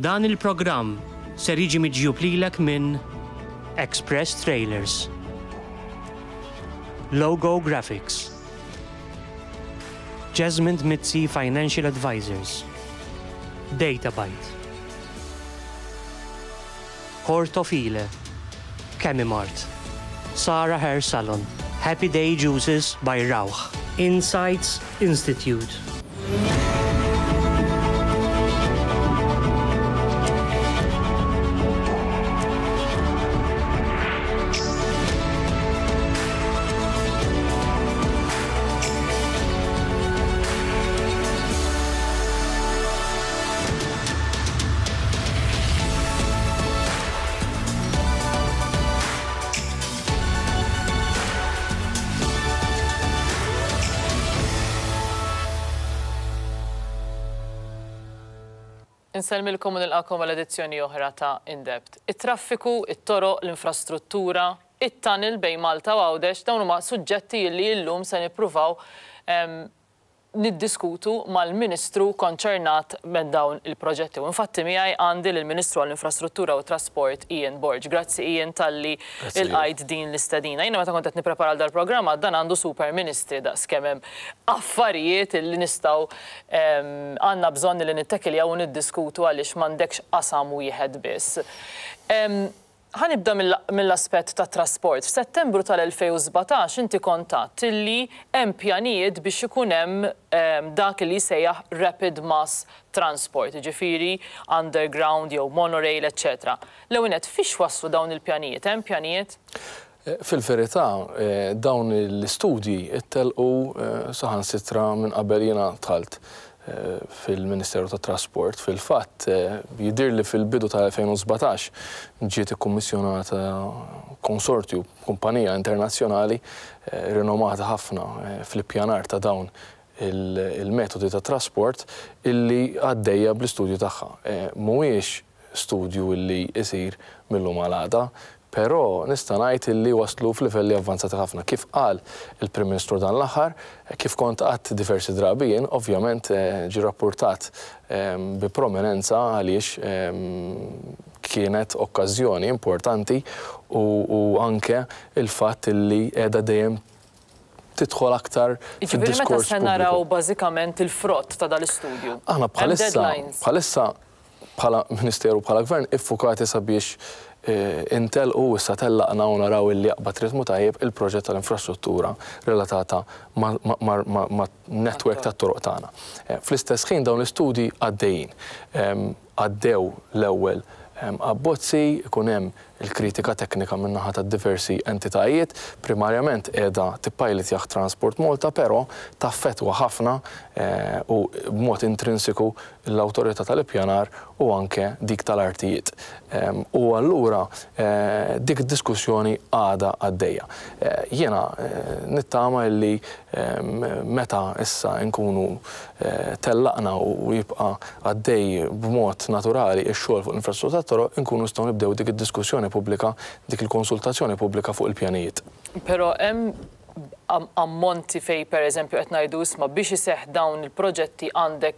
Dan il-programm ser jiġi miġjub lilek minn Express Trailers, Logo Graphics, Jesmond Mizzi Financial Advisors, Databyte, Portofile, Chemimart, Sara Hair Salon, Happy Day Juices by Rauch, Insights Institute. Insellmilkom u nilqakom għal edizzjoni oħra ta' In Depth. It-traffiku, it-toroq, l-infrastruttura, it-tunnel bejn Malta u Għawdex, dawn huma suġġetti li llum se nippruvaw niddiskutu mal-Ministru konċernat minn dawn il-proġetti. U infatti miegħi għandi lill-Ministru għall-Infrastruttura u t-Trasport Ian Borg. Grazzi Ian talli lqajt din l-istedina. Jiena meta kont qed nipprepara għal dal-programm għad dan għandu super ministri daqs kemm hemm affarijiet illi nistgħu għandna bżonn illi nittekiljaw u niddiskutu għaliex m'għandekx qasam wieħed biss. Ħa nibda mill-aspett tat-trasport. F'Settembru tal-2017 inti kont għedt illi hemm pjanijiet biex ikun hemm dak li jissejjaħ rapid mass transport, jiġifieri underground jew monorail eċċetera. L-ewwel nett, fiex waslu dawn il-pjanijiet? Hemm pjanijiet? Fil-verità, dawn l-istudji ttellqu saħansitra minn qabel jiena dħalt fil-Ministeru tat-Trasport. Fil-fatt, jidhirli fil-bidu tal-2017 ġiet ikkummissjonata konsortju, kumpanija internazzjonali rinomata ħafna fl-ippjanar ta' dawn il-metodi ta' trasport illi għaddejja bl-istudju tagħha. Mhuwiex studju illi jsir mil-lum għal għada, però nista' ngħid illi waslu f'livelli avvanzati ħafna. Kif qal il-Prim Ministru dan l-aħħar, kif kont għadt diversi drabi jien, ovvjament ġie rappurtat bi prominenza għaliex kienet okkażjoni importanti u anke l-fatt illi qiegħda dejjem tidħol aktar Jiġifieri meta fid-diskors se pubbliku. naraw bażikament il-frott ta' dal-istudju? Aħna Hemm bħalissa deadlines? bħalissa bħala Ministeru bħala Gvern iffukati sabiex intellqu u issa tellaqna u naraw illi jaqbad ritmu tajjeb il-proġett tal-infrastruttura relatata man-network tat-toroq tagħna. Fl-istess ħin dawn l-istudji għaddejjin. Għaddew l-ewwel abbozzi, ikun hemm il-kritika teknika min-naħa tad-diversi entitajiet, primarjament qiegħda tippajlitjah Transport Malta però taffettwa ħafna u b'mod intrinsiku l-Awtorità tal-Ippjanar u anke dik tal-Artijiet. U allura dik id-diskussjoni għadha għaddejja. Jiena nittama illi meta issa nkunu tellaqna u jibqa' għaddej b'mod naturali x-xogħol fuq l-infrastruttura tat-toroq, inkunu nistgħu nibdew dik id-diskussjoni pubblika, dik il-konsultazzjoni pubblika fuq il-pjanijiet. Però hemm ammonti fejn pereżempju qed ngħidu isma' biex iseħħ dawn il-proġetti għandek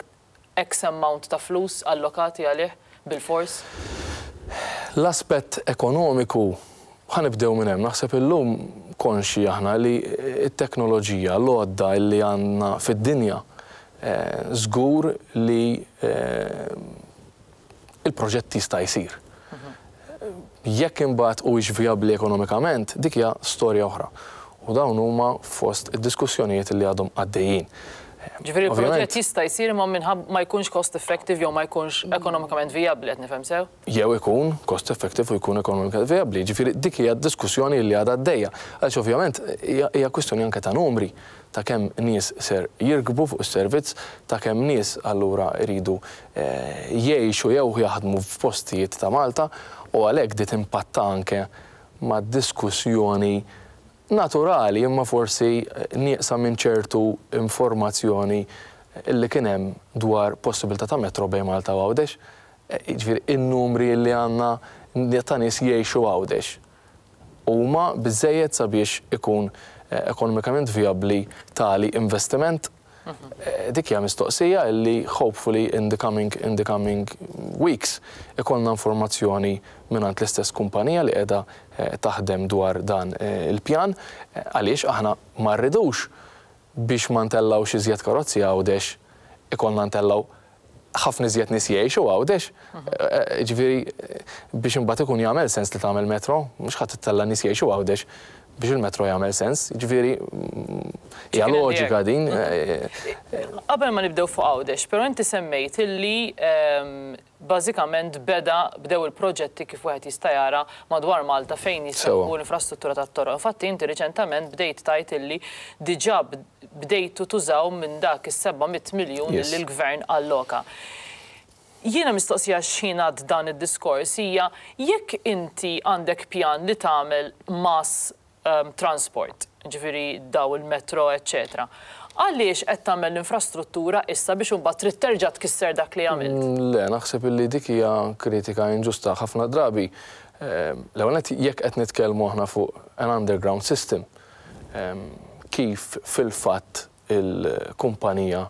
X amount ta' flus allokati għalih bilfors? L-aspett ekonomiku, ħa nibdew minn hemm, naħseb illum konxji aħna li t-teknoloġija, l-għodda li għandna fid-dinja żgur li il-proġett jista' jsir. Jekk imbagħad huwiex vijabbli ekonomikament, dik hija storja oħra. U dawn huma fost id-diskussjonijiet li għadhom għaddejjin. Ġifieri l-proġett jista' jsir imma minħabba ma jkunx cost effective jew ma jkunx ekonomikament vijabbli, qed nifhem sew? Jew ikun cost effective u jkun ekonomikament vijabbli. Jiġifieri dik hija d-diskussjoni li għadha għaddejja. Għaliex ovvjament hija kwistjoni anke ta' numri. ta' kemm nies ser jirkbu fuq is-servizz, ta' kemm nies allura jridu jgħixu jew jaħdmu f'postijiet ta' Malta u għalhekk di timpatta anke mad-diskussjoni naturali imma forsi nieqsa minn ċertu informazzjoni li kien hemm dwar possibilità ta' metro bejn Malta u Għawdex. Jiġifieri in-numri li għandna ta' nies jgħixu Għawdex. Huma biżżejjed sabiex ikun ekonomikament vijabbli tali investiment? Dik hija mistoqsija li hopefully in the coming weeks ikollna informazzjoni mingħand l-istess kumpanija li qiegħda taħdem dwar dan il-pjan, għaliex aħna ma rridux biex ma ntellgħux iżjed karozzi Għawdex ikollna ntellgħu ħafna iżjed nies jgħixu Għawdex. Ġifieri biex imbagħad ikun jagħmel sens li tagħmel metro, mhux ħadd ittella' nies jgħixu Għawdex biex il-metro jagħmel sens. Ġifieri hija loġika din. Qabel ma nibdew fuq Għawdex, però inti semmejt illi bażikament beda bdew il-proġetti kif wieħed jista' jara madwar Malta fejn jista' jkun infrastruttura tat-toroq. Infatti inti riċentament bdejt tgħid illi diġà bdejtu tużaw minn dak is-700 miljun li l-gvern alloka. Jiena mistoqsija x'ħin għad dan id-diskors hija jekk inti għandek pjan li tagħmel mass transport, ġifieri daw il-metro, eccetera. Għaliex qed tagħmel l-infrastruttura issa biex imbagħad trid terġa' tkisser dak li għamilt? Le, naħseb illi dik hija kritika inġusta ħafna drabi. L-ewwel nett, jekk qed nitkellmu aħna fuq an underground system, kif fil-fatt il-kumpanija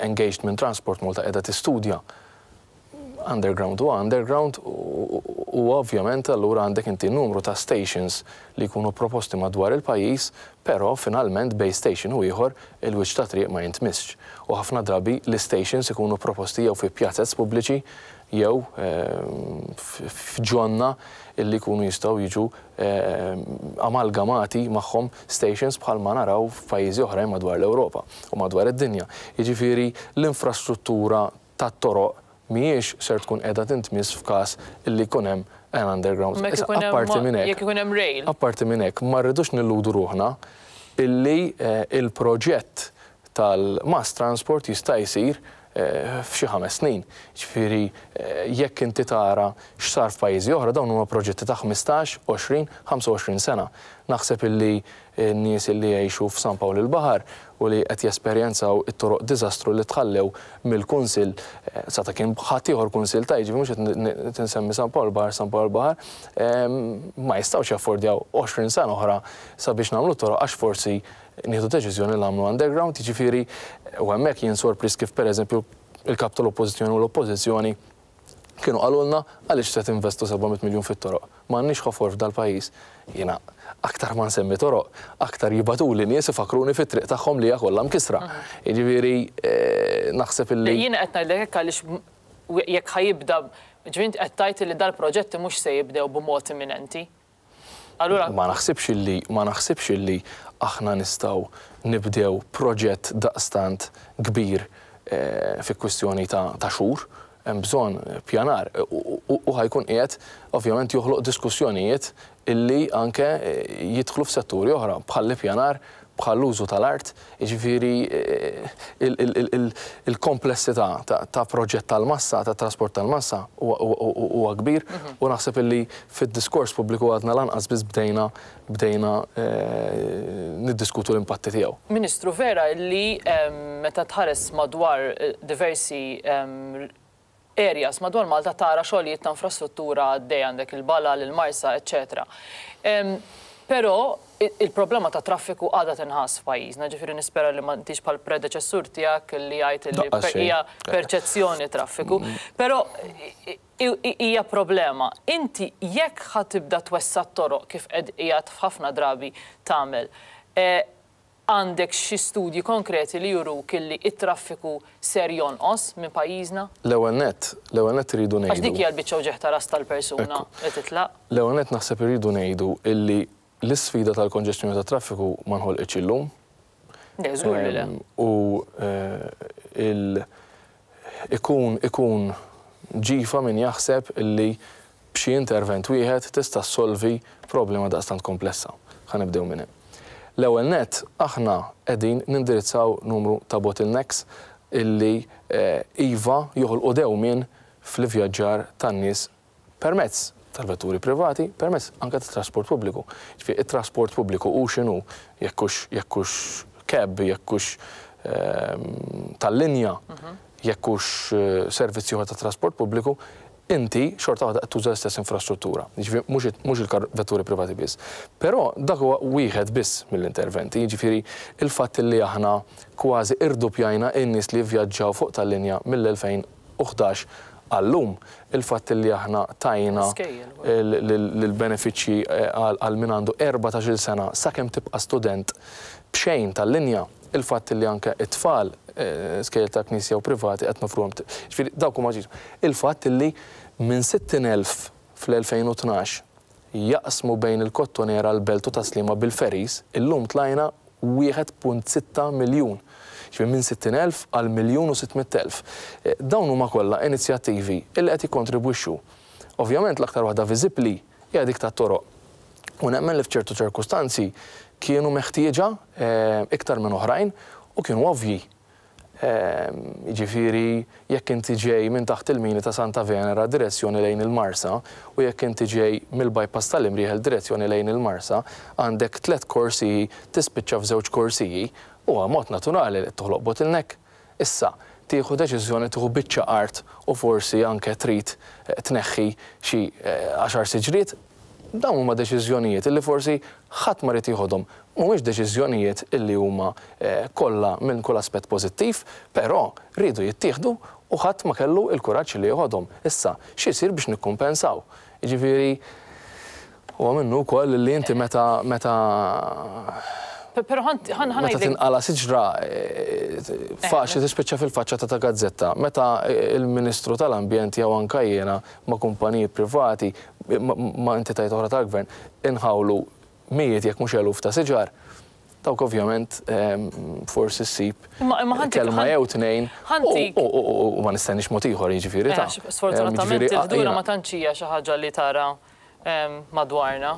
engaged minn Transport Malta qiegħda tistudja, underground u underground u ovvjament allura għandek inti numru ta' stations li jkunu proposti madwar il-pajjiż, però finalment bejn station u ieħor il-wiċċ ta' triq ma jintmissx. U ħafna drabi l-stations ikunu proposti jew fi pjazez pubbliċi jew f'ġonna illi jkunu jistgħu jiġu amalgamati magħhom stations bħalma naraw f'pajjiżi oħrajn madwar l-Ewropa u madwar id-dinja. Jiġifieri l-infrastruttura tat-toroq mhijiex ser tkun qiegħda tintmiss f'każ illi jkun hemm an underground. Apparti minn hekk. Jekk ikun hemm rail. Apparti minn hekk, ma rridux nilludu ruħna illi il-proġett tal-mass transport jista' jsir f'xi 5 snin. Ġifieri jekk inti tara x'sar f'pajjiżi oħra, dawn huma proġetti ta' 15, 20, 25 sena. Naħseb illi n-nies illi jgħixu f'San Pawl il-Baħar u li qed jesperjenzaw it-toroq diżastru li tħallew mill-kunsill, sa ta' kien ħadd ieħor kunsill ta' jiġifieri mhux qed tinsemmi San Pawl il-Baħar, San Pawl il-Baħar, ma jistgħux jaffordjaw 20 sena oħra sabiex nagħmlu toroq għax forsi nieħdu deċiżjoni li nagħmlu underground, jiġifieri u hemmhekk jien sorpriż kif, pereżempju, il-kap tal-Oppożizzjoni u l-Oppożizzjoni kienu qalulna għaliex se tinvestu 700 miljun fit-toroq. M'għandniex ħofor f'dal-pajjiż. Jiena aktar ma nsemmi toroq, aktar jibagħtuli nies ifakruni fit-triq tagħhom li hija kollha mkisra. Jiġifieri naħseb illi. Jiena qed ngħidlek hekk għaliex jekk ħa jibda, ġifieri qed tgħid li dal-proġetti mhux se jibdew b'mod imminenti. Allura Ma naħsibx illi aħna nistgħu nibdew proġett daqstant kbir fi kwistjoni ta' xhur, hemm bżonn pjanar u ħa jkun qiegħed ovvjament joħloq diskussjonijiet illi anke jidħlu f'setturi oħra bħal pjanar, bħal użu tal-art, jiġifieri il-komplessità ta' proġett tal-massa, ta' trasport tal-massa huwa kbir u naħseb illi fid-diskors pubbliku għadna lanqas biss bdejna niddiskutu l-impatti tiegħu. Ministru, vera li meta tħares madwar diversi areas madwar Malta tara xogħlijiet ta' infrastruttura għaddej, għandek il-Balal, il-Marsa, eccetera. Però il-problema ta' traffiku għadha tinħass f'pajjiżna, ġifieri nispera li ma intix bħal predeċessur tiegħek li jgħid li hija perċezzjoni traffiku. Però hija problema. Inti jekk ħa tibda twessa' toroq kif qed qiegħed f'ħafna drabi tagħmel, għandek xi studji konkreti li juruk illi it-traffiku ser jonqos minn pajjiżna? L-ewwel nett iridu ngħidu. Għax dik hija l-biċċa uġigħ ta' ras tal-persuna li titlaq. L-ewwel nett naħseb iridu ngħidu illi l-isfida tal-konġestjoni tat-traffiku ma nħolqitx illum. Le, żgur li le. U il ikun ġifa min jaħseb illi b'xi intervent wieħed tista' ssolvi problema daqstant komplessa. Ħa nibdew minn hemm. L-ewwel nett, aħna qegħdin nindirizzaw numru ta' bottlenecks illi iva joħolqu dewmien fl-ivvjaġġar tan-nies permezz tal-vetturi privati, permezz anke tat-trasport pubbliku. Ġifieri it-trasport pubbliku u x'inhu, jekk hux cab, jekk hux tal-linja, jekk hux servizzi oħra ta' trasport pubbliku, Inti xorta waħda qed tuża l-istess infrastruttura, jiġifieri mhux il-vetturi privati biss. Però dak huwa wieħed biss mill-interventi, jiġifieri il-fatt li aħna kważi irduppjajna n-nies li jivvjaġġaw fuq tal-linja mill-2011 għal-lum, il-fatt li aħna tajna l-benefiċċji għal min għandu 14-il sena sakemm tibqa' student b'xejn tal-linja, il-fatt li anke t-tfal, skejjel tal-Knisja u privati qed noffruhom, jiġifieri dawk huma Il-fatt li minn 60,000 fl-2012 jaqsmu bejn il-Kottonera, l-Belt u Tas-Sliema bil-ferries, illum tlajna 1.6 miljun. Jiġifieri minn 60,000 għal 1,600,000. Dawn huma kollha inizjattivi li qed jikkontribwixxu. Ovvjament l-aktar waħda viżibbli hija dik tat-toroq. U nemmen li f'ċertu ċirkustanzi kienu meħtieġa iktar minn oħrajn u kienu ovvji. Jiġifieri jekk inti ġej minn taħt il-mini ta' Santa Venera direzzjoni lejn il-Marsa u jekk inti ġej mill-bypass tal-Imrieħel direzzjoni lejn il-Marsa, għandek tlett korsiji tispiċċa f'żewġ korsiji, huwa mod naturali li toħloq bottleneck. Issa, tieħu deċiżjoni tieħu biċċa art u forsi anke trid tneħħi xi għaxar siġriet, dawn huma deċiżjonijiet li forsi ħadd ma ried jieħodhom. Mhumiex deċiżjonijiet li huma kollha minn kull aspett pożittiv, però riedu jittieħdu u ħadd ma kellu l-kuraġġ li jeħodhom. Issa, x'isir biex nikkumpensaw? Jiġifieri, Huwa minnu wkoll li inti meta meta Però ħa Meta tinqala' siġra faċli tispiċċa fil-faċċata ta' gazzetta. Meta l-Ministru tal-Ambjent jew anke jiena ma' kumpaniji privati, ma' entitajiet oħra tal-Gvern, inħawlu mijiet jekk mhux eluf ta' siġar, dawk ovvjament forsi ssib kelma jew tnejn u ma nistenniex mod ieħor jiġifieri ta'. Sfortunatament il-ħdura ma tantx hija xi ħaġa li tara madwarna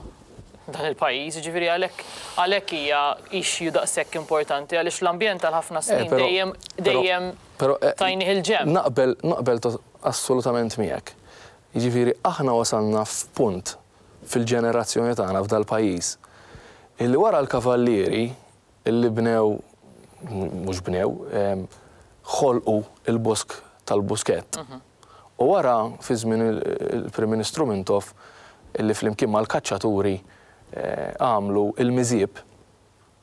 dan il-pajjiż, jiġifieri għalhekk għalhekk hija issue daqshekk importanti għaliex l-ambjent għal ħafna snin dejjem dejjem tajnih il-ġenb. Naqbel naqbel assolutament miegħek. Jiġifieri aħna wasalna f'punt fil-ġenerazzjoni tagħna f'dal-pajjiż illi wara l-kavallieri illi bnew, mhux bnew, ħolqu l-bosk tal-Buskett. U wara, fi żmien il-Prim Ministru Mintoff, illi flimkien mal-kaċċaturi għamlu l-miżieb,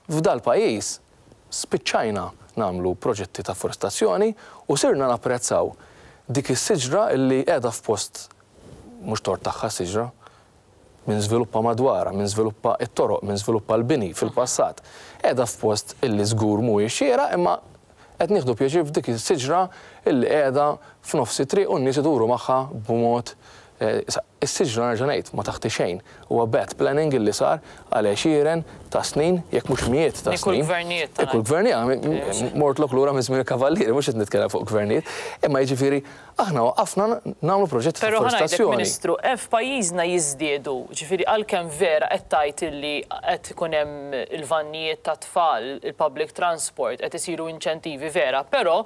f'dal-pajjiż spiċċajna nagħmlu proġetti ta' forestazzjoni u sirna napprezzaw dik is-siġra illi qiegħda f'post mhux tort tagħha s-siġra, min żviluppa madwarha, min żviluppa t-toroq, min żviluppa l-bini fil-passat. Qiegħda f'post illi żgur mhuwiex xieraq imma qed nieħdu pjaċir f'dik is-siġra illi qiegħda f'nofs it-triq u n-nies iduru magħha b'mod Is-siġra nerġa' ngħid ma taħti xejn. Huwa bad planning illi sar għal għexieren ta' snin, jekk mhux mijiet ta' snin. Kull gvernijiet. Kull gvernijiet, mortlok lura minn żmien il-Kavallieri, mhux qed nitkellem fuq gvernijiet, imma jiġifieri Aħna waqafna nagħmlu proġetti ta' Però ħa ngħidlek, forestazzjoni. Ministru, f'pajjiżna jiżdiedu, ġifieri għalkemm vera qed tgħid illi qed ikun hemm il-vannijiet tat-tfal, il-public transport, qed isiru inċentivi vera, però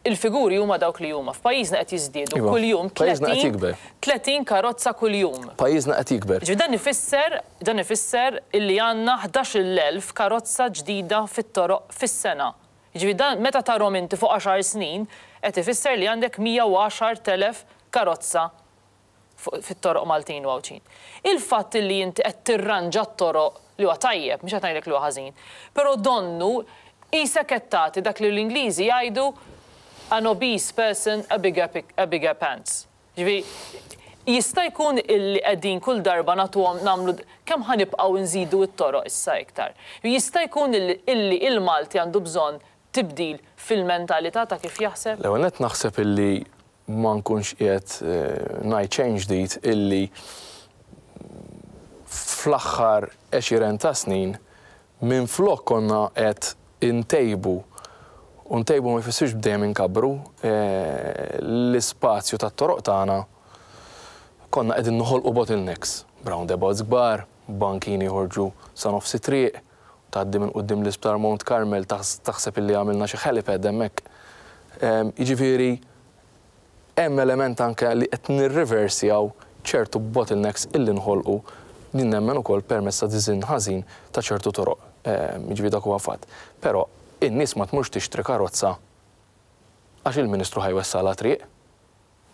il-figuri huma dawk li huma. F'pajjiżna qed jiżdiedu Iva, kuljum pajjiżna qed 30 jikber. 30 karozza kuljum. Pajjiżna qed jikber. Ġifieri dan ifisser, dan ifisser illi għandna 11,000 karozza ġdida fit-toroq fis-sena. Jiġifieri dan meta tarhom inti fuq għaxar snin qed ifisser li għandek 110,000 karozza fuq fit-toroq Maltin u Għawdxin. Il-fatt li inti qed tirranġa t-toroq li huwa tajjeb, mhux qed ngħidlek li huwa ħażin, però donnu qisek qed tagħti dak li l-Ingliżi jgħidu an obese person a bigger a bigger pants. Jiġifieri jista' jkun illi qegħdin kull darba nagħtuhom nagħmlu kemm ħa nibqgħu nżidu t-toroq issa iktar? Jista' jkun illi il-Malti għandu bżonn tibdil fil-mentalità ta' kif jaħseb? L-ewwel nett naħseb illi ma nkunx qiegħed ngħid xejn ġdid illi fl-aħħar għexieren ta' snin Minflok konna qed intejbu, u ntejbu ma jfissirx dejjem inkabbru, l-ispazju tat-toroq tagħna, konna qegħdin noħolqu bottlenecks, b'roundabouts kbar, bankini joħorġu sa nofs it-triq, tgħaddi minn quddiem l-Isptar Mount Carmel taħseb illi għamilna xi helipad hemmhekk. Jiġifieri Hemm element anke li qed nirriversjaw ċertu bottlenecks illi nħolqu, jien nemmen ukoll permezz ta' diżinn ħażin ta' ċertu toroq. Jiġifieri dak huwa fatt. Però in-nies ma tmurx tixtri karozza għax il-Ministru ħa jwessagħlha triq.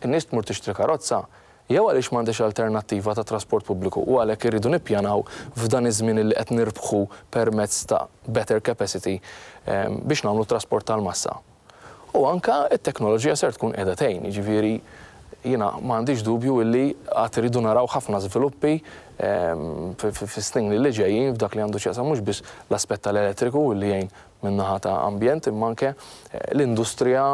In-nies tmur tixtri karozza Jew għaliex m'għandix alternattiva ta' trasport pubbliku u għalhekk irridu nippjanaw f'dan iż-żmien illi qed nirbħu permezz ta' better capacity biex nagħmlu trasport tal-massa. U anke t-teknoloġija ser tkun qiegħda tgħin, jiġifieri jiena ma għandix dubju illi għad irridu naraw ħafna żviluppi fis-snin li ġejjin f'dak li għandu x'jaqsam mhux biss l-aspett tal-elettriku illi jgħin min-naħa ta' ambjent imma anke l-industrija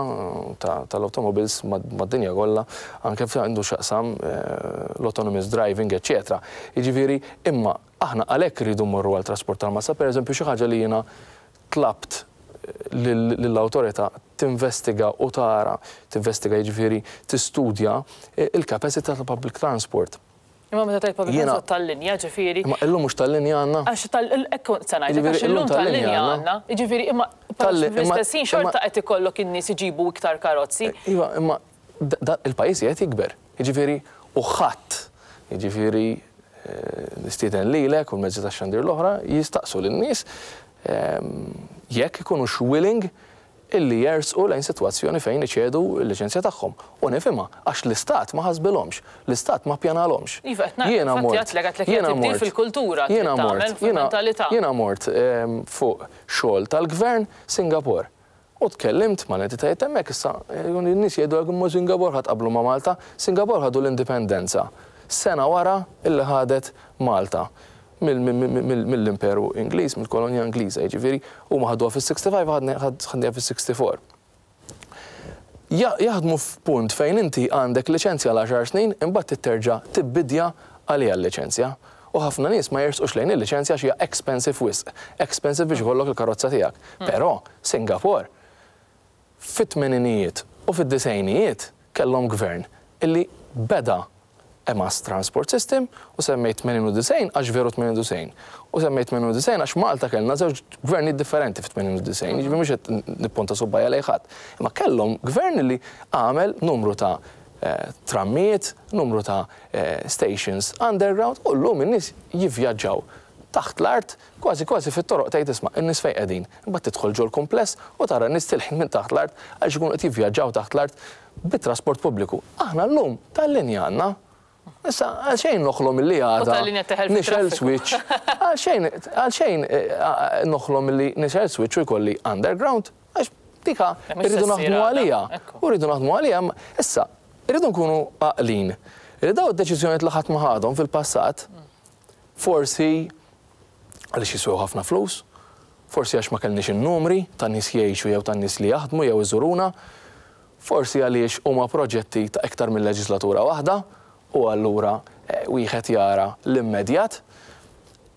tal-automobiles mad-dinja kollha anke f'dak għandu x'jaqsam l-autonomous driving eċċetera. Jiġifieri imma aħna għalhekk irridu mmorru għal trasport tal-massa, pereżempju xi ħaġa li jiena tlabt lill-awtorità tinvestiga u tara, tinvestiga jiġifieri tistudja il-capacity tal-public transport. Imma meta tgħid public transport tal-linja, ġifieri. Imma illum mhux tal-linja għandna? Għax tal hekk se ngħidlek għax illum tal-linja għandna. Jiġifieri imma fl-istess ħin xorta qed ikollok in-nies iġibu iktar karozzi. Iva, imma il-pajjiż qiegħed jikber. Jiġifieri u ħadd, jiġifieri nistieden lilek u l-mezzi tax-xandir l-oħra jistaqsu lin-nies jekk ikunux willing illi jersqu lejn sitwazzjoni fejn iċedu l-liċenzja tagħhom. U nifhimha, għax l-Istat ma ħasbilhomx, l-Istat ma ppjanalhomx. Iva, qed ngħid, infatti għedtlek, għedtlek hija tibdil fil-kultura trid tagħmel, fil-mentalità. Jiena mort fuq xogħol tal-Gvern Singapore u tkellimt mal-entitajiet hemmhekk, issa n-nies jgħidulek imma Singapore ħa tqabblu ma' Malta, Singapore ħadu l-indipendenza sena wara illi ħadet Malta. mill-Imperu Ingliż, mill-kolonja Ingliża, jiġifieri huma ħaduha fis-65 ħadniha fis-64. Jaħdmu f'punt fejn inti għandek liċenzja għal għaxar snin imbagħad trid terġa' tibbidja għaliha l-liċenzja. U ħafna nies ma jersqux lejn il-liċenzja għax hija expensive wisq, expensive biex ikollok il-karozza tiegħek. Però Singapore Fit-tmeninijiet u fid-disgħinijiet kellhom gvern illi beda a mass transport system u semmejt 98 għax veru 98 u semmejt 98 għax Malta kellna żewġ gvernijiet differenti fit-98, jiġifieri mhux qed nipponta subgħajja lejn ħadd. Imma kellhom gvern illi għamel numru ta' trammijiet, numru ta' stations underground u llum in-nies jivvjaġġaw taħt l-art Kważi kważi fit-toroq tgħid isma' in-nies fejn qegħdin. Imbagħad tidħol ġol-kumpless u tara n-nies tilħin minn taħt l-art għaliex ikunu qed jivvjaġġaw taħt l-art bit-trasport pubbliku. Aħna llum tal-linja għandna. Issa għalxejn noħlom illi għada nixgħel switch. Għalxejn għalxejn noħlom illi nixgħel switch u jkolli underground għax dika rridu naħdmu għaliha. U rridu naħdmu għaliha. Issa, irridu nkunu għaqlin li dawn id-deċiżjonijiet li ħadd ma ħadhom fil-passat forsi għaliex jiswew ħafna flus, forsi għax ma kellniex in-numri ta' nies jgħixu jew ta' nies li jaħdmu jew iżuruna, forsi għaliex huma proġetti ta' iktar minn leġislatura waħda u allura wieħed jara l-immedjat.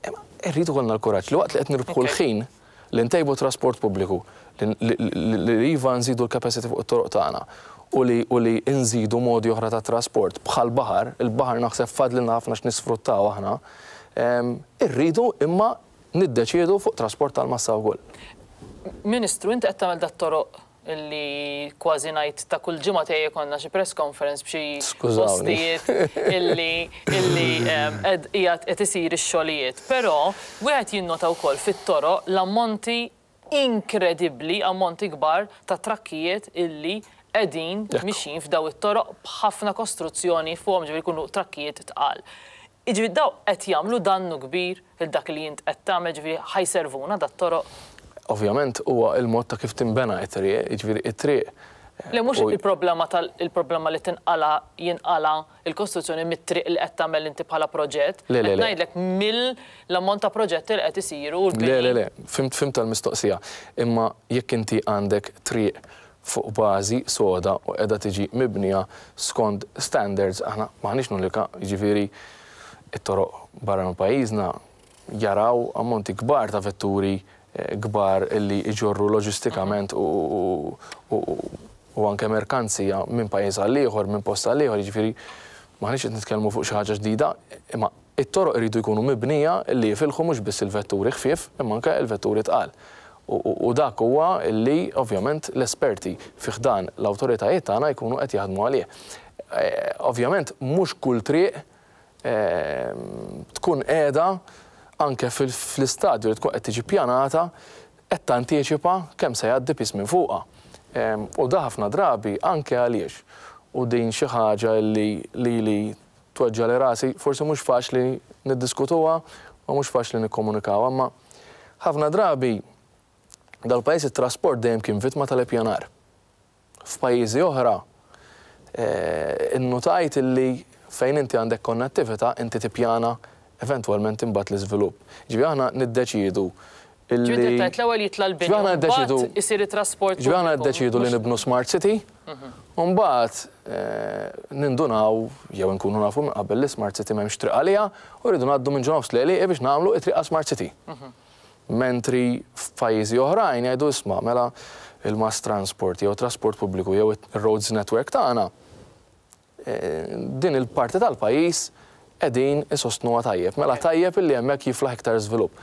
Imma rrid ikollna l-kuraġġ li waqt li qed nirbħu l-ħin li ntejbu t-trasport pubbliku, li iva nżidu l-capacity fuq it-toroq tagħna u li u li nżidu modi oħra ta' trasport bħall-baħar, il-baħar naħseb fadlilna ħafna x'nisfruttaw aħna, irridu imma niddeċiedu fuq trasport tal-massa wkoll. Ministru, inti qed tagħmel dat-toroq illi kważi ngħid ta' kull ġimgħa tiegħi jkollna xi press conference b'xi postijiet illi illi qed qiegħed qed isir ix-xogħlijiet. Però wieħed jinnota wkoll fit-toroq l-ammonti inkredibbli, ammonti kbar ta' trakkijiet illi qegħdin mixjin f'daw it-toroq b'ħafna kostruzzjoni fuqhom, ġifieri jkunu trakkijiet tqal. Jiġifieri dawn qed jagħmlu dannu kbir lil dak li int qed tagħmel, jiġifieri ħa jservuna dat-toroq? Ovvjament huwa l-mod ta' kif tinbena t-triq, jiġifieri t-triq. Le mhux il-problema tal il-problema li tinqala' jinqala' l-kostruzzjoni mit-triq li qed tagħmel inti bħala proġett. Le, le, le. Qed ngħidlek mill-ammont ta' proġetti li qed isiru u l-bini. Le, le, le, fhimt fhimt tal-mistoqsija. Imma jekk inti għandek triq fuq bażi soda u qiegħda tiġi mibnija skont standards, aħna m'aħniex l-unika, jiġifieri t-toroq barra minn pajjiżna jaraw ammonti kbar ta' vetturi kbar li jġorru loġistikament u anke merkanzija minn pajjiż għal ieħor, minn post għal ieħor, jiġifieri m'aħniex qed nitkellmu fuq xi ħaġa ġdida, imma It-toroq iridu jkunu mibnija li jifilħu mhux biss il-vetturi ħfief imma anke l-vetturi tqal. U dak huwa li ovvjament l-esperti fi ħdan l-awtoritajiet tagħna jkunu qed jaħdmu għalih. Ovvjament mhux kull triq tkun qiegħda anke fl-istadju li tkun qed tiġi ppjanata qed tantiċipa kemm se jgħaddi piż minn fuqha. U da ħafna drabi anke għaliex, u din xi ħaġa li lili tweġġagħli rasi, forsi mhux faċli niddiskutuha u mhux faċli nikkomunikawha, imma ħafna drabi dal-pajjiż it-trasport dejjem kien vittma tal-ippjanar. F'pajjiżi oħra innutajt illi fejn inti għandek konnettività inti tippjana eventwalment imbagħad l-iżvilupp. Jiġifieri aħna niddeċiedu illi. Ġifieri inti qed tgħid l-ewwel jitla' l-bini u mbagħad isir it-trasport pubbliku. Ġifieri aħna niddeċiedu li nibnu smart city u mbagħad nindunaw jew inkunu nafu minn qabel li smart city m'hemmx triq għaliha u rridu ngħaddu minn ġo nofs l-għelieqi biex nagħmlu t-triq għas smart city. Mentri f'pajjiżi oħrajn jgħidu isma' mela il-mass transport jew trasport pubbliku jew ir-roads network tagħna din il-parti tal-pajjiż qegħdin isostnuha tajjeb. Mela tajjeb illi hemmhekk jiflaħ iktar żvilupp.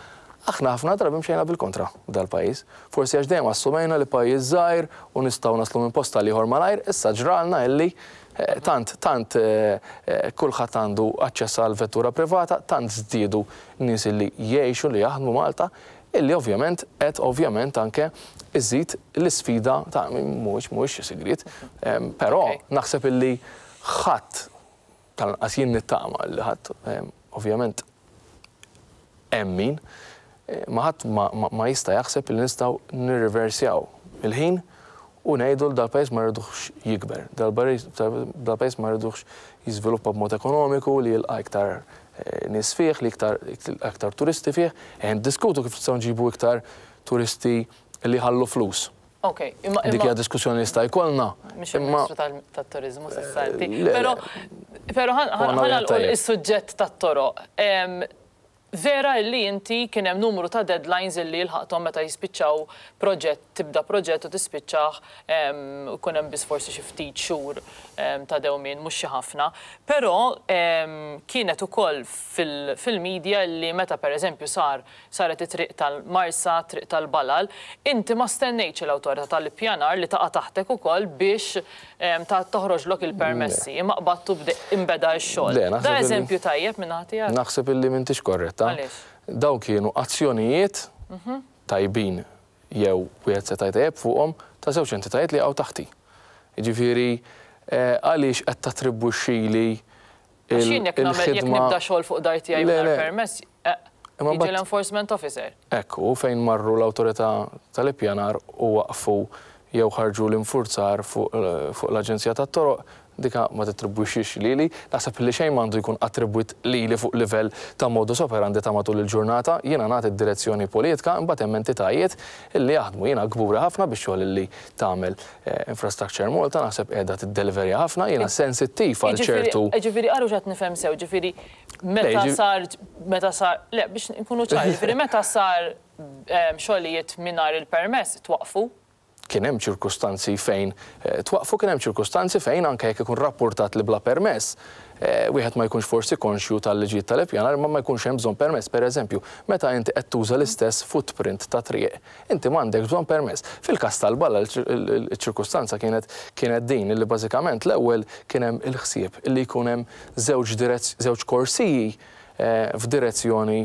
Aħna ħafna drabi mxejna bil-kontra f'dal-pajjiż. Forsi għax dejjem assumejna li pajjiż żgħir u nistgħu naslu minn post għal ieħor malajr, issa ġralna illi tant tant kulħadd għandu aċċess għal vettura privata, tant żdiedu nies illi jgħixu li jaħdmu Malta, illi ovvjament qed ovvjament anke iżid l-isfida ta' mhuwiex mhuwiex xi sigriet, però naħseb illi ħadd, tal-anqas jien nittama li ħadd, ovvjament hemm min, ma ħadd ma jista' jaħseb illi nistgħu nirriversjaw il-ħin u ngħidu li dal-pajjiż ma rriduhx jikber, dal-pajjiż ma rriduhx jiżviluppa b'mod ekonomiku, li jilqa' iktar nies fih, li iktar aktar turisti fih. Ejja niddiskutu kif nistgħu nġibu iktar turisti li jħallu flus. Ok, imma. Dik hija diskussjoni li jista' jkollna. Mhix il-Ministru tat-Turiżmu s'issa inti. Però, però ħa nagħlqu s-suġġett tat-toroq. Vera illi inti kien hemm numru ta' deadlines illi ilħaqthom meta jispiċċaw proġett, tibda proġett u tispiċċah u jkun hemm biss forsi xi ftit xhur ta' dewmien, mhux xi ħafna. Però kienet ukoll fil-media illi meta pereżempju sar saret it-triq tal-Marsa, triq tal-Balal, inti ma stennejtx l-Awtorità tal-Ippjanar li taqa' taħtek ukoll biex ta' toħroġlok il-permessi, imma qbadt u inbeda x-xogħol. Da eżempju tajjeb min-naħa tiegħek? Naħseb illi m'intix korretta. Għaliex? Dawn kienu azzjonijiet tajbin jew wieħed seta' jtejjeb fuqhom ta' żewġ entitajiet li jaqgħu taħti. Jiġifieri għaliex qed tattribwixxili Għax jien jekk nagħmel jekk nibda xogħol fuq dar tiegħi mingħajr permess, jiġi l-enforcement officer. Hekk hu, fejn marru l-Awtorità tal-Ippjanar u waqqfu jew ħarġu l-infurzar fuq l-Aġenzija tat-Toroq, dika ma tittribwixxix lili. Naħseb li xejn m'għandu jkun attribwit lili fuq livell ta' modus operandi ta' matul il-ġurnata. Jiena nagħti d-direzzjoni politika, imbagħad hemm entitajiet illi jaħdmu. Jiena kburi ħafna bix-xogħol illi tagħmel Infrastructure Malta naħseb qiegħda tiddeliverja ħafna, jiena sensittiv għal ċertu. Ġifieri qalu x'qed nifhem sew, ġifieri meta sar meta sar le biex nkunu ċari, ġifieri meta sar xogħlijiet mingħajr il-permess twaqqfu? Kien hemm ċirkustanzi fejn twaqqfu, kien hemm ċirkustanzi fejn anke jekk ikun rappurtat li bla permess, wieħed ma jkunx forsi konxju tal-liġijiet tal-ippjanar imma ma jkunx hemm bżonn permess. Pereżempju, meta inti qed tuża l-istess footprint ta' triq, Inti m'għandekx bżonn permess. Fil-każ tal-balla ċ-ċirkustanza kienet kienet din illi bażikament l-ewwel kien hemm il-ħsieb illi jkun hemm żewġ żewġ korsiji f'direzzjoni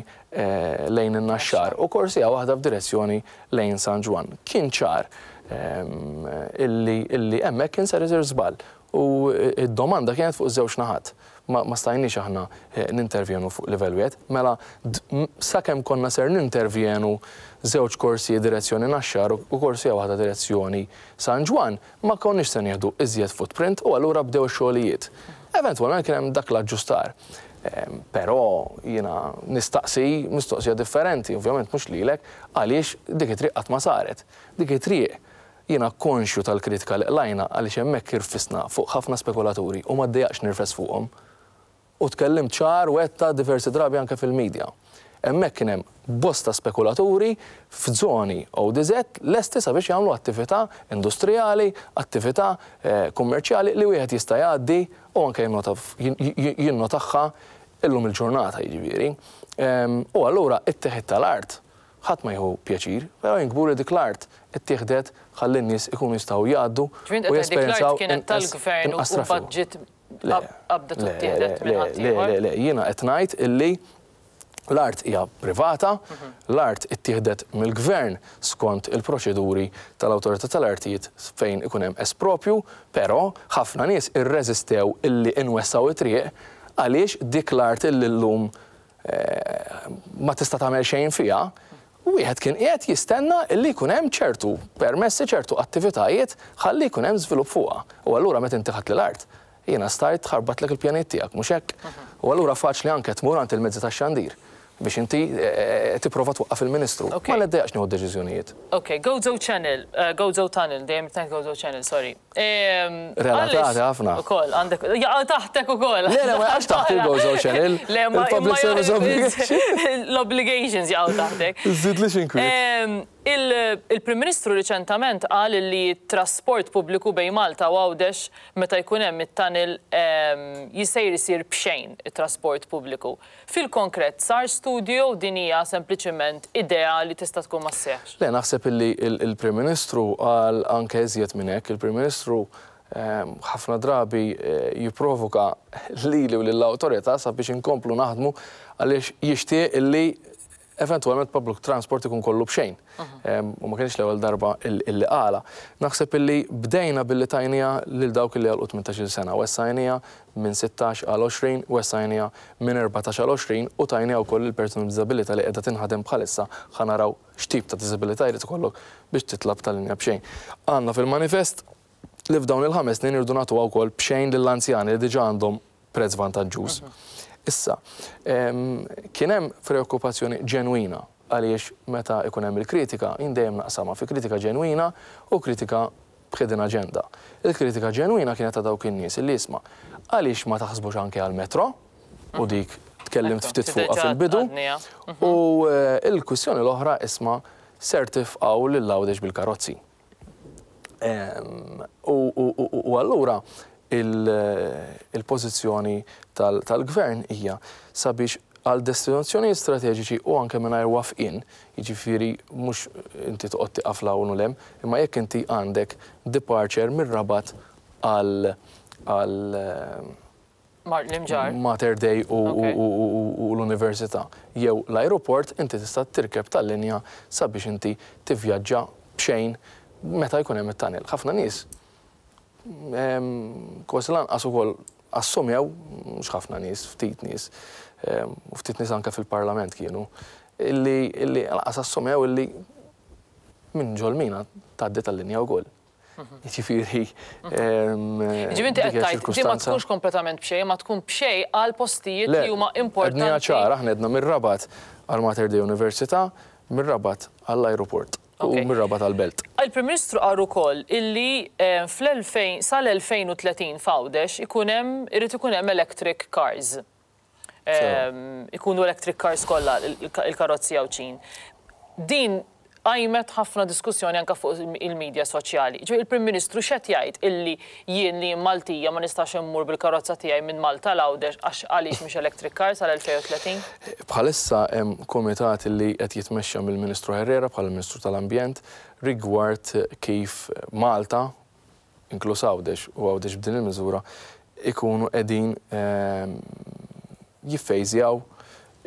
lejn in-Naxxar u korsija waħda f'direzzjoni lejn San Ġwann. Kien ċar illi illi hemmhekk kien ser isir żball u d-domanda kienet fuq iż-żewġ naħat. Ma stajniex aħna nintervjenu fuq livell wieħed. Mela sakemm konna ser nintervjenu żewġ korsiji direzzjoni Naxxar u korsija waħda direzzjoni San Ġwann, ma konniex se nieħdu iżjed footprint u allura bdew ix-xogħlijiet. Eventwalment kien hemm dak l-aġġustar. Però jiena nistaqsi mistoqsija differenti, ovvjament mhux lilek, għaliex dik it-triq qatt ma saret. Dik it-triq Jiena konxju tal-kritika li qlajna għaliex hemmhekk irfisna fuq ħafna spekulaturi u ma ddejjaqx nirfes fuqhom. U tkellimt ċar u għedtha diversi drabi anke fil-media. Hemmhekk kien hemm bosta spekulaturi f'żoni ODZ lesti sabiex jagħmlu attività industrijali, attività kummerċjali li wieħed jista' jgħaddi u anke jinnotagħha illum il-ġurnata jiġifieri. U allura t-teħid tal-art Ħadd ma jieħu pjaċir, però jien kburi dik l-art ittieħdet ħalli n-nies ikunu jistgħu jgħaddu u jesperjenzaw inqas traffiku. Le, le, le, le, le, jiena qed ngħid illi l-art hija privata, l-art ittieħdet mill-Gvern skont il-proċeduri tal-Awtorità tal-Artijiet fejn ikun hemm espropju, però ħafna nies irreżistew illi nwessgħu t-triq. Għaliex dik l-art illi llum ma tista' tagħmel xejn fiha, wieħed kien qiegħed jistenna illi jkun hemm ċertu permessi, ċertu attivitajiet ħalli jkun hemm żvilupp fuqha. U allura meta inti ħadt l-art, jiena stajt ħarbatlek il-pjanijiet tiegħek, mhux hekk? U allura faċli anke tmur għand il-mezzi tax-xandir biex inti tipprova twaqqaf il-Ministru. Ma niddejjaqx nieħu d-deċiżjonijiet. Ok, Gozo Channel, Gozo Tunnel, dejjem qed ngħid Gozo Channel, sorry. Relatati ħafna. Ukoll, għandek, jaqa' taħtek ukoll. Le, le, ma jaqax taħt il-Gozo Channel. Le, ma Il-Public Service Obligation. L-obligations jaqgħu taħtek. Żidlix inkwiet. Il-Prim Ministru riċentament qal li t-trasport pubbliku bejn Malta u Għawdex meta jkun hemm it-tunnel jisejr isir b'xejn it-trasport pubbliku. Fil-konkret sar studju jew din hija sempliċiment idea li tista' tkun ma sseħħx? Le, naħseb illi l-Prim Ministru qal anke iżjed minn hekk. Il-Prim Ministru ħafna drabi jipprovoka lili u lill-awtorità sabiex inkomplu naħdmu għaliex jixtieq illi eventwalment public transport ikun kollu b'xejn. U ma kienx l-ewwel darba illi qala. Naħseb illi bdejna billi tajnija lil dawk illi għalqu 18-il sena, wessajnija minn 16 għal 20, wessajnija minn 14 għal 20 u tajnija wkoll il-persuni b'diżabilità li qiegħda tinħadem bħalissa ħa naraw x'tip ta' diżabilità jrid ikollok biex titlab tal-linja b'xejn. Għandna fil-manifest li f'dawn il-5 snin irridu nagħtuha wkoll b'xejn lill-anzjani li diġà għandhom prezz vantaġġuż. Issa, kien hemm preokkupazzjoni ġenwina għaliex meta ikun hemm il-kritika, jien dejjem naqsamha fi kritika ġenwina u kritika b'hidden agenda. Il-kritika ġenwina kienet ta' dawk in-nies illi jisma' għaliex ma taħsbux anke għal-metro, u dik tkellimt ftit fuqha fil-bidu, u il-kwistjoni l-oħra isma' ser tifqgħu lil Għawdex bil-karozzi. U allura il-pożizzjoni tal-gvern hija sabiex għal destinazzjonijiet strateġiċi u anke mingħajr waqfien, jiġifieri mhux inti toqgħod tieqaf 'l hawn u 'l hemm, imma jekk inti għandek departure mir-Rabat għal Mater Dei u l-Università jew l-aeroport, inti tista' tirkeb tal-linja sabiex inti tivvjaġġa b'xejn meta jkun hemm it-tunnel. Ħafna nies kważi lanqas ukoll assumew, mhux ħafna nies, ftit nies, u ftit nies anke fil-Parlament kienu, illi lanqas assumew illi minn ġol-mina tgħaddi tal-linja wkoll. Jiġifieri. Jiġifieri inti qed tgħid di ma tkunx kompletament b'xejn, ma tkun b'xejn għal postijiet li huma importanti. Le, għedniha ċara, aħna għedna mir-Rabat għal Mater Dei Università, mir-Rabat għall-ajruport u mir-Rabat għall-Belt. Il-Prim Ministru qal ukoll illi fl-2000 sal-2030 f'Għawdex ikun hemm irid ikun hemm electric cars. Ikunu electric cars kollha il-karozzi Għawdxin. Din qajmet ħafna diskussjoni anke fuq il-medja soċjali. Ġifieri il-Prim Ministru x'qed jgħid illi jien li jien Maltija ma nistax immur bil-karozza tiegħi minn Malta 'l Għawdex għax għaliex mhix electric car sal-2030? Bħalissa hemm kumitat li qed jitmexxa mill-Ministru Herrera bħala Ministru tal-Ambjent rigward kif Malta, inkluż Għawdex u Għawdex b'din il-miżura, ikunu qegħdin jiffejżjaw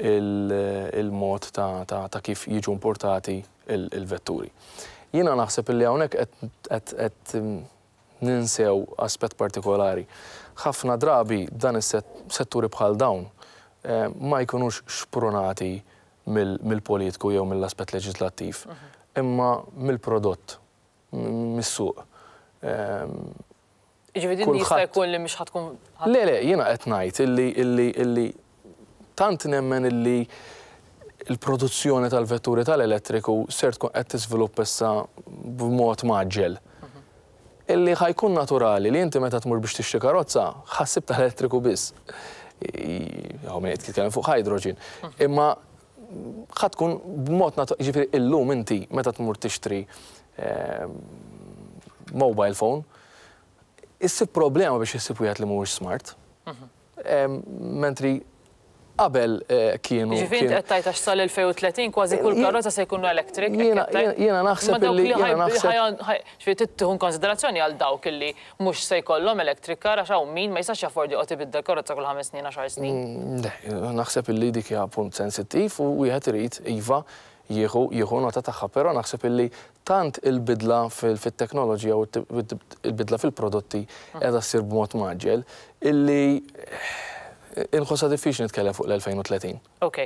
il-mod ta' kif jiġu importati il-vetturi. Jiena naħseb illi hawnhekk qed ninsew aspett partikolari. Ħafna drabi dan is-setturi bħal dawn ma jkunux xprunati mill-politiku jew mill-aspett leġislattiv, imma mill-prodott, mis-suq. Jiġifieri din jista' jkun li mhix ħa tkun. Le, le, jiena qed ngħid illi tant nemmen illi l-produzzjoni tal-vetturi tal-elettriku ser tkun qed tiżviluppa issa b'mod mgħaġġel. Illi ħa jkun naturali li inti meta tmur biex tixtri karozza, ħa ssib tal-elettriku biss. Hawn min qed jitkellem fuq hydrogen. Imma ħa tkun b'mod naturali, jiġifieri illum inti meta tmur tixtri mobile phone, issib problema biex issib wieħed li mhuwiex smart. Mentri qabel kienu. Jiġifieri inti qed tgħid għax sal-2030 kważi kull karozza se jkunu electric? Jiena naħseb illi jiena naħseb. Ġifieri trid tieħu konsiderazzjoni għal dawk illi mhux se jkollhom electric car għax hawn min ma jistax jaffordi joqgħod ibiddel karozza kull 5 snin, 10 snin. Le, naħseb illi dik hija punt sensittiv u wieħed irid iva jieħu jieħu nota tagħha, però naħseb illi tant il-bidla fit-teknoloġija u il-bidla fil-prodotti qiegħda ssir b'mod mgħaġġel illi Inħossha diffiċli nitkellem fuq l-2030. Ok.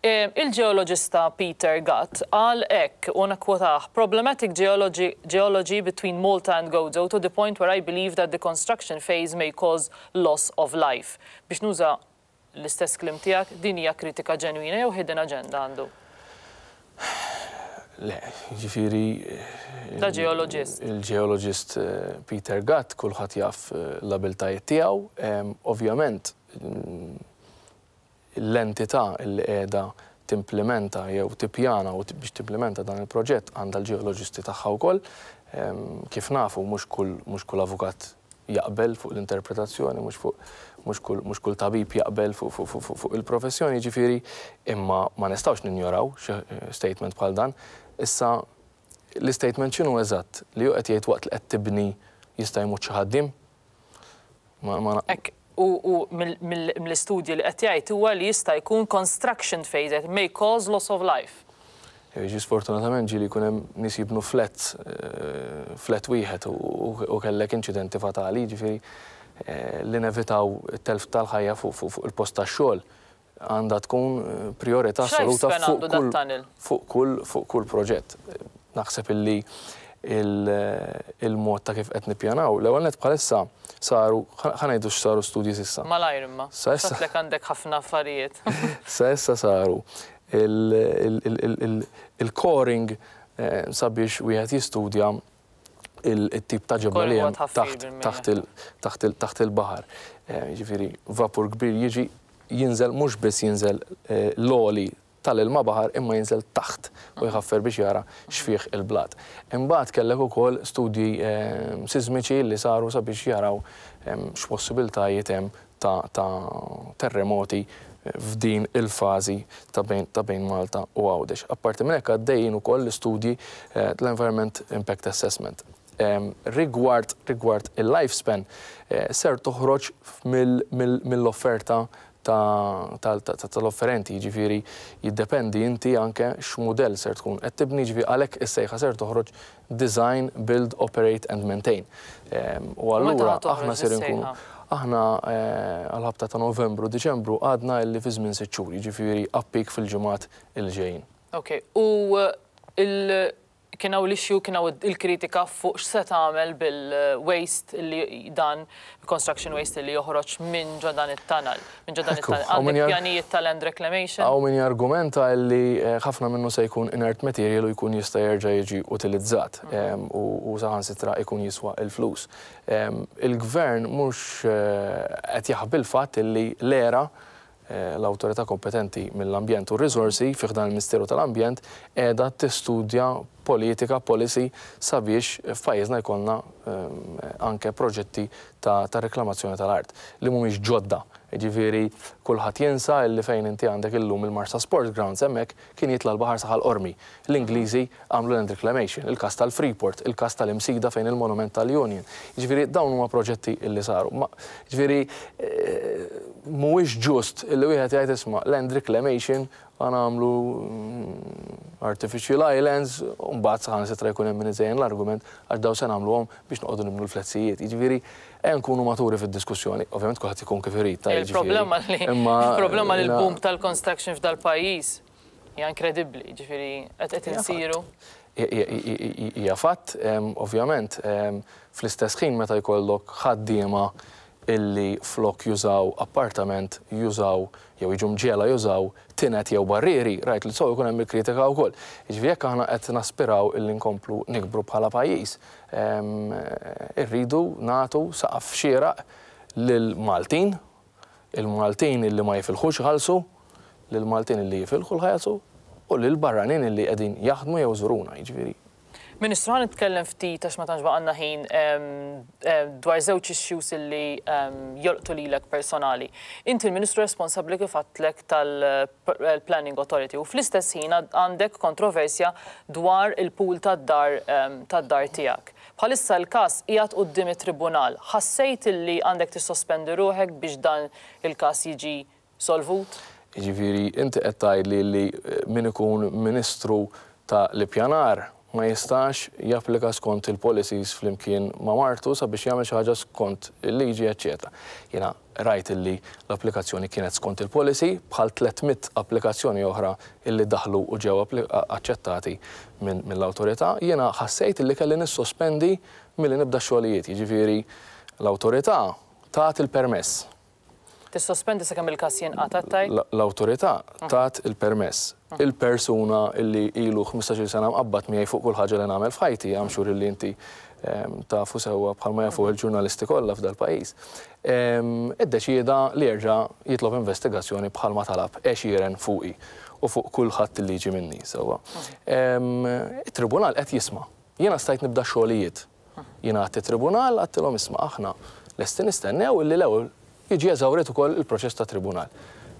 Il-ġeoloġista Peter Gatt qal hekk, u nakkwotah, "Problematic geology, geology between Malta and Gozo to the point where I believe that the construction phase may cause loss of life." Biex nuża l-istess kliem tiegħek, din hija kritika ġenwina jew hidden agenda għandu? Le, jiġifieri. Ta' ġeoloġist. Il-ġeoloġist Peter Gatt kulħadd jaf l-abiltajiet tiegħu. Ovvjament, l-entità li qiegħda timplimenta jew tippjana u biex timplimenta dan il-proġett għandha l-ġeoloġisti tagħha wkoll. Kif nafu, mhux kull avukat jaqbel fuq l-interpretazzjoni, mhux fuq mhux kull mhux kull tabib jaqbel fuq il-professjoni, jiġifieri, imma ma nistgħux ninjoraw xi statement bħal dan. Issa l-istatement x'inhu eżatt? Li hu qed jgħid waqt li qed tibni jista' jmut xi ħaddiem? Ma, ma... Hekk, u mill-istudji li qed jgħid huwa li jista' jkun construction phase that may cause loss of life. Jiġi sfortunatament ġieli jkun hemm nies jibnu flats, flat wieħed u kellek inċidenti fatali, jiġifieri li nevitaw it-telf tal-ħajja fuq il-post tax-xogħol għandha tkun prijorità assoluta fuq kull fuq kull proġett. Naħseb illi il-mod ta' kif qed nippjanaw, l-ewwel nett bħalissa saru, ħa ngħidu x'saru studji s'issa. Malajr imma. Sa issa. Għedtlek għandek ħafna affarijiet. Sa issa saru il-coring sabiex wieħed jistudja il-tip ta' ġebla li hemm taħt il-baħar. Jiġifieri vapur kbir jiġi jinżel mhux biss jinżel l-għoli tal-ilma baħar imma jinżel taħt u jħaffer biex jara x'fih il-blat. Imbagħad kellek ukoll studji sismiċi li saru sabiex jaraw x'possibiltajiet hemm ta' terremoti f'din il-fażi ta' bejn Malta u Għawdex. Apparti minn hekk għaddejjin ukoll l-istudji tal-Environment Impact Assessment. Rigward rigward il-lifespan ser toħroġ mill-offerta tal-offerenti, jiġifieri jiddependi inti anke x'mudell ser tkun qed tibni, jiġifieri għalhekk is-sejħa ser toħroġ design, build, operate and maintain. U allura aħna ser inkunu aħna għall-ħabta ta' Novembru, Diċembru għadna illi fi żmien 6 xhur, jiġifieri appik fil-ġimgħat il ġejjin. Ok, u kien hawn l-issue, kien hawn il-kritika fuq x'se tagħmel bil-waste li dan, construction waste li joħroġ minn ġo dan it-tunnel. Minn ġo dan it-tunnel. Għandek pjanijiet ta' land reclamation? Hawn min jargumenta li ħafna minnu se jkun inert material u jkun jista' jerġa' jiġi utilizzat u saħansitra jkun jiswa l-flus. Il-Gvern mhux qed jaħbi l-fatt li l-ERA, l-awtorità kompetenti mill-ambjent u r-riżorsi fi ħdan il-Ministeru tal-Ambjent, qiegħda tistudja politika, policy, sabiex f'pajjiżna jkollna anke proġetti ta' reklamazzjoni tal-art li mhumiex ġodda. Jiġifieri kulħadd jinsa illi fejn inti għandek illum il-Marsa Sports Grounds hemmhekk kien jitla' l-baħar sa Ħal Qormi. L-Ingliżi għamlu land reclamation, il-każ tal-Freeport, il-każ tal-Imsida fejn il-monument tal-Union. Jiġifieri dawn huma proġetti illi saru. Ma, jiġifieri mhuwiex ġust illi wieħed jgħid isma' land reclamation ħa nagħmlu artificial islands u mbagħad saħansitra jkun hemm min iżejjen l-argument għax dawn se nagħmluhom biex noqogħdu nibnu l-fletzijiet. Jiġifieri ejja nkunu maturi fid-diskussjoni. Ovvjament kulħadd ikun kif irid, ta' jiġifieri. Il-problema li il-problema li l-boom tal-construction f'dal-pajjiż hija inkredibbli, jiġifieri qed qed insiru. Hija fatt, ovvjament, fl-istess ħin meta jkollok ħaddiema illi flok jużaw appartament jużaw jew jiġu mġiegħla jużaw tined jew barrieri, rajt li so jkun hemm il-kritika wkoll. Jiġifieri jekk aħna qed naspiraw illi nkomplu nikbru bħala pajjiż, irridu nagħtu saqaf xieraq lill-Maltin, il-Maltin illi ma jifilħux iħallsu, lill-Maltin illi jifilħu l-ħajsu u lill-barranin illi qegħdin jaħdmu jew iżuruna, jiġifieri. Ministru, ħa nitkellem ftit għax ma tantx baqgħalna ħin dwar żewġ issues illi jolqtu lilek personali. Inti l-Ministru responsabbli kif għedtlek tal-Planning Authority u fl-istess ħin għandek kontroversja dwar il-pool tad-dar tad-dar tiegħek. Bħalissa l-każ qiegħed quddiem it-tribunal. Ħassejt illi għandek tissospendi ruħek biex dan il-każ jiġi solvut? Jiġifieri inti qed tgħidli li min ikun Ministru ta' l-Ippjanar ma jistax japplika skont il-policies flimkien ma' martu sabiex jagħmel xi ħaġa skont il-liġi eċċetera. Jiena rajt illi l-applikazzjoni kienet skont il-policy bħal 300 applikazzjoni oħra illi daħlu u ġew aċċettati mill-awtorità. Jiena ħassejt illi kelli nissospendi milli nibda x-xogħlijiet, jiġifieri l-awtorità tat il-permess. Tissospendi sakemm il-każ jinqata' tgħid? L-awtorità tat il-permess. Il-persuna illi ilu 15-il sena mqabbad miegħi fuq kull ħaġa li nagħmel f'ħajti, I'm sure illi inti tafu sewwa bħalma jafuh il-ġurnalisti kollha f'dal-pajjiż, iddeċieda li jerġa' jitlob investigazzjoni bħalma talab għexieren fuqi u fuq kulħadd illi jiġi minni, sewwa. It-tribunal qed jisma'. Jiena stajt nibda x-xogħlijiet. Jien għedt it-tribunal, għedtilhom isma' aħna lesti nistennew illi l-ewwel jiġi eżawrit ukoll il-proċess tat-tribunal.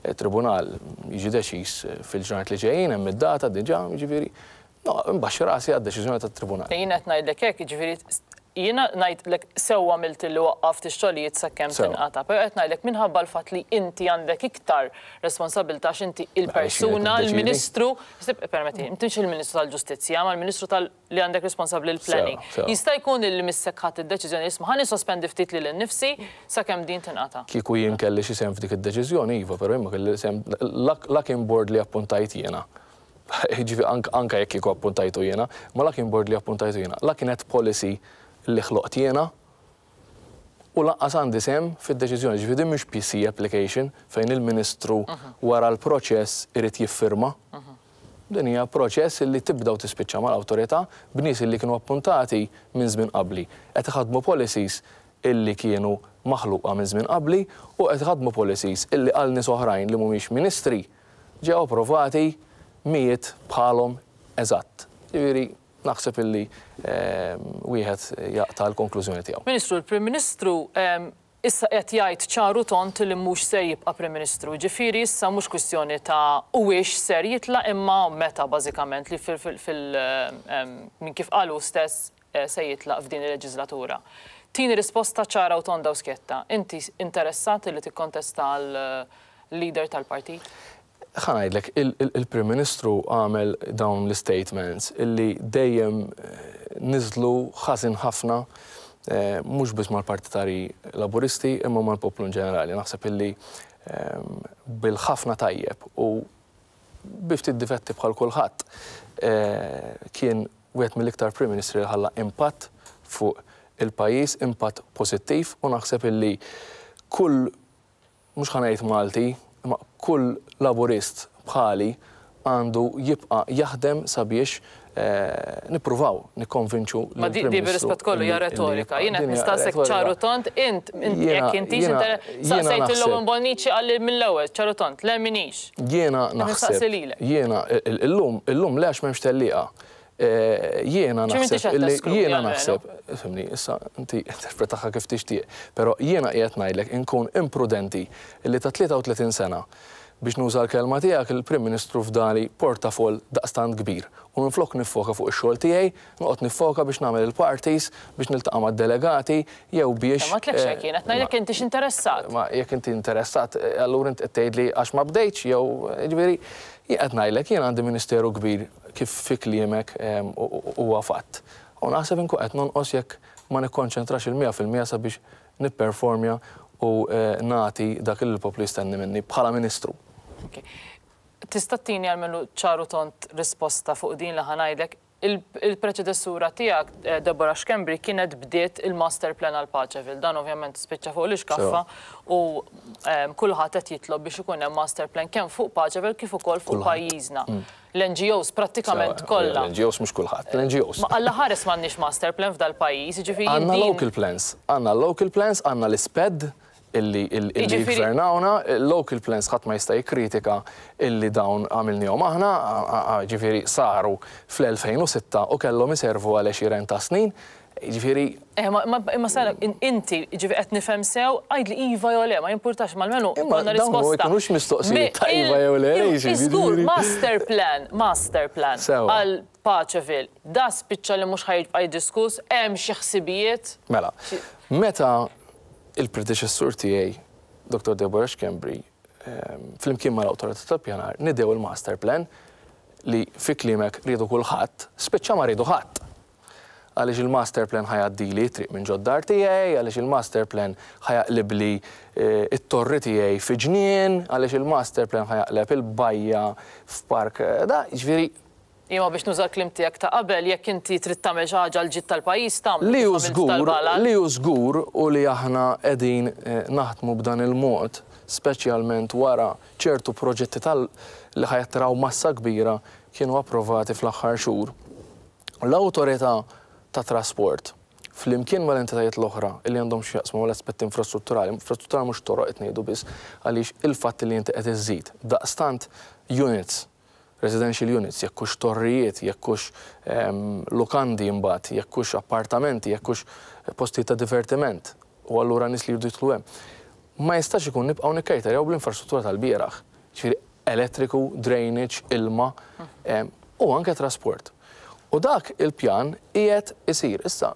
It-tribunal jiġi deċiż fil-ġranet li ġejjin, hemm id-data diġà, jiġifieri no, nbaxxi rasi għad-deċiżjoni tat-tribunal. Jien qed ngħidlek hekk, jiġifieri jiena ngħidlek sew għamilt illi waqqaft ix-xogħlijiet sakemm tinqata', però qed ngħidlek minħabba l-fatt li inti għandek iktar responsabbiltà għax inti il-persuna, il-Ministru, permettili, inti mhux il-Ministru tal-Ġustizzja, ma l-Ministru tal- li għandek responsabbli l-planning. Jista' jkun illi missek ħadt id-deċiżjoni isma' ħa nissospendi ftit lili nnifsi sakemm din tinqata'. Kieku jien kelli xi sehem f'dik id-deċiżjoni, iva, però jien ma kelli sehem, la kien board li appuntajt jiena, jiġifieri anke jekk kieku appuntajtu jiena, ma la kien board li appuntajtu jiena, la kienet policy li ħloqt jiena, u lanqas għandi sehem fid-deċiżjoni. Jiġifieri din mhix PC application fejn il-Ministru wara l-proċess irid jiffirma. Din hija proċess illi tibda u tispiċċa mal-awtorità b'nies illi kienu appuntati minn żmien qabli. Qed iħaddmu policies illi kienu maħluqa minn żmien qabli u qed iħaddmu policies illi għal nies oħrajn li mhumiex ministri ġew approvati mijiet bħalhom eżatt. Jiġifieri naħseb illi wieħed jaqta' l-konklużjoni tiegħu. Ministru, il-Prim Ministru issa qed jgħid ċar u tond li mhux ser jibqa' Prim Ministru. Jiġifieri issa mhux kwistjoni ta' huwiex ser jitlaq imma meta bażikament li fil minn kif qal hu stess se jitlaq f'din il-leġiżlatura. Tini risposta ċara u tonda u skjetta. Inti interessat li tikkontesta għal leader tal-partit? Ħa ngħidlek, il-Prim Ministru għamel dawn l-istatements illi dejjem niżlu ħażin ħafna mhux biss mal-partitarji Laburisti imma mal-poplu in ġenerali. Naħseb illi bil-ħafna tajjeb u bi ftit difetti bħal kulħadd kien wieħed mill-iktar Prim Ministri li ħalla impatt fuq il-pajjiż, impatt pożittiv u naħseb illi kull mhux ħa ngħid Malti, imma kull Laburist bħali għandu jibqa' jaħdem sabiex nippruvaw nikkonvinċu Ma di lill-Prim di Ministru bir-rispett kollu hija illi retorika. jibqa'. Jien qed Din hija nistaqsek retorika. ċar u tond, int int Jiena jekk intix jiena inter jiena saqsejt lil naħseb Owen Bonnici qalli mill-ewwel ċar u tond, le m'iniex. Jiena Qed nistaqsi naħseb lilek. jiena illum illum le għax m'hemmx tellieqa. Jiena Ġifieri m'intix naħseb qed illi teskludi jiena almenu. naħseb, fhimni, issa inti interpretaha kif tixtieq, però jiena qiegħed ngħidlek inkun imprudenti illi ta' 33 sena, biex nuża l-kelma tiegħek, il-Prim Ministru fdali portafoll daqstant kbir u minflok niffoka fuq ix-xogħol tiegħi, noqgħod niffoka biex nagħmel il-parties, biex niltaqa' mad-delegati jew biex. Ma għedtlekx hekk jien, qed ngħidlek intix interessat. Ma jekk inti interessat, allura int qed tgħidli għax ma bdejtx jew, jiġifieri, jien qed ngħidlek jien għandi ministeru kbir kif fi kliemek huwa fatt. U naħseb inkun qed nonqos jekk ma nikkonċentrax il-100% sabiex nipperformja u nagħti dak li l-poplu jistenni minni bħala Ministru. Ok. Tista' ttini almenu ċar u tond risposta fuq din li ħa ngħidlek? Il-preċedessura tiegħek, Deborah Schembri, kienet bdiet il-master plan għal Paceville. Dan ovvjament spiċċa fuq l-ixkaffa u kulħadd qed jitlob biex ikun hemm master plan kemm fuq Paceville kif ukoll fuq pajjiżna. L-NGOs prattikament kollha. L-NGOs mhux kulħadd, l-NGOs. Ma Alla ħares m'għandniex master plan f'dal-pajjiż, jiġifieri jien din. Għandna local plans, għandna local plans, għandna l-isped illi jiggvernawna, local plans ħadd ma jista' jikkritika illi dawn għamilniehom aħna, jiġifieri saru fl-2006 u kellhom iservu għal għexieren ta' snin, Jiġifieri. Eh, ma, ma, imma sara, inti, jiġifieri qed nifhem sew, għidli iva jew le, ma jimpurtax, ma almenu jkollna risposta. Imma dawn ma jkunux mistoqsijiet ta' iva jew le, Żgur, master plan, master plan għal Paceville, da spiċċa li mhux ħa jibqa' jiddiskuss, hemm xi ħsibijiet? Mela, meta il-predeċessur tiegħi, Dottor Deborah Schembri, flimkien mal-Awtorità tal-Pjanar, nidew il-master plan. li fi kliemek riedu kulħadd, spiċċa ma riedu ħadd. Għaliex il-master plan ħa jgħaddili t-triq minn ġod-dar tiegħi, għaliex il-master plan ħa jaqlibli t-torri tiegħi fi ġnien, għaliex il-master plan ħa jaqleb il-bajja f'park da, jiġifieri. Imma biex nuża l-kliem tiegħek ta' qabel, jekk inti trid tagħmel xi ħaġa għall-ġid tal-pajjiż tagħmlu Li kif hu għamilt żgur, tal-Balal. li hu żgur u li aħna qegħdin naħdmu b'dan il-mod, speċjalment wara ċertu proġetti tal li ħa jattiraw massa kbira kienu approvati fl-aħħar xhur. L-Awtorità tat-Trasport, flimkien mal-entitajiet l-oħra li għandhom x'jaqsmu mal-aspetti infrastrutturali, infrastrutturali mhux toroq qed ngħidu biss, għaliex il-fatt li inti qed iżżid daqstant units, residential units, jekk hux torrijiet, jekk hux lukandi imbagħad, jekk hux appartamenti, jekk hux postijiet ta' divertiment, u allura nies li jridu jidħlu hemm. Ma jistax ikun nibqgħu nikkejterjaw bl-infrastruttura tal-bieraħ. Jiġifieri elettriku, drainage, ilma u anke trasport. U dak il-pjan qiegħed isir. Issa,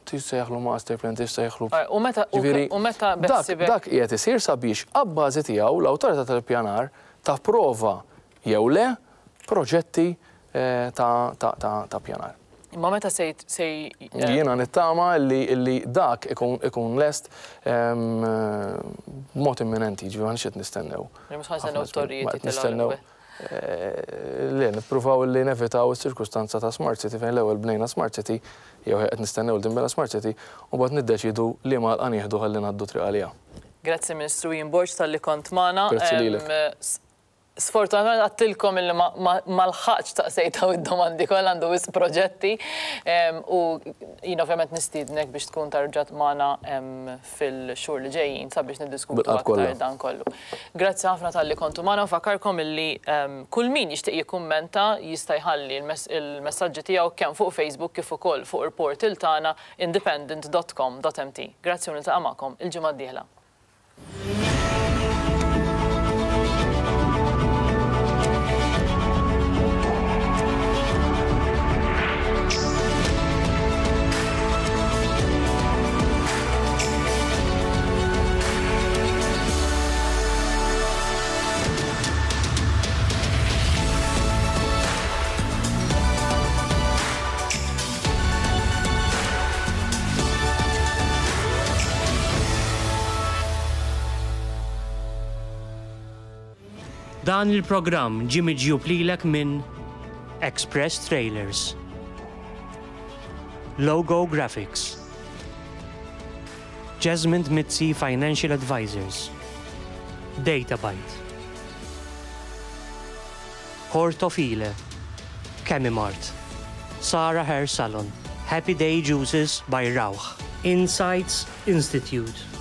tissejjaħlu master plan, tissejjaħlu. U meta u meta dak dak qiegħed isir sabiex abbażi tiegħu l-awtorità tal-ippjanar tapprova jew le proġetti ta' ppjanar. Imma meta se se Jiena nittama li dak ikun lest b'mod imminenti, jiġifieri m'aħniex qed nistennew. Mhux ħa nistennew t-torrijiet jitilgħu l-ewwel. Le, nippruvaw li nevitaw is-ċirkustanza ta' Smart City fejn l-ewwel bnejna Smart City, jew qed nistennew li tinbena Smart City, u mbagħad niddeċiedu liema għalqa nieħdu ħalli ngħaddu triq għaliha. Grazzi Ministru Ian Borg talli kont magħna. Grazzi lilek. Sfortunatament għadtilkom illi ma lħaqtx staqsejt dawn id-domandi kollha, għandu wisq proġetti u jien ovvjament nistiednek biex tkun tarġa' magħna fil-xhur li ġejjin sabiex niddiskutu aktar dan kollu. Grazzi ħafna talli kontu magħna, nfakkarkom illi kull min jixtieq jikkummenta jista' jħalli l-messaġġi tiegħu kemm fuq Facebook kif ukoll fuq il-portal tagħna independent.com.mt. Grazzi u niltaqa' magħkom il-ġimgħa d-dieħla. Dan il-programm ġie miġjub lilek minn Express Trailers, Logo Graphics, Jesmond Mizzi Financial Advisors, Databyte, Hortofile, Chemimart, Sara Hair Salon, Happy Day Juices by Rauch, Insights Institute.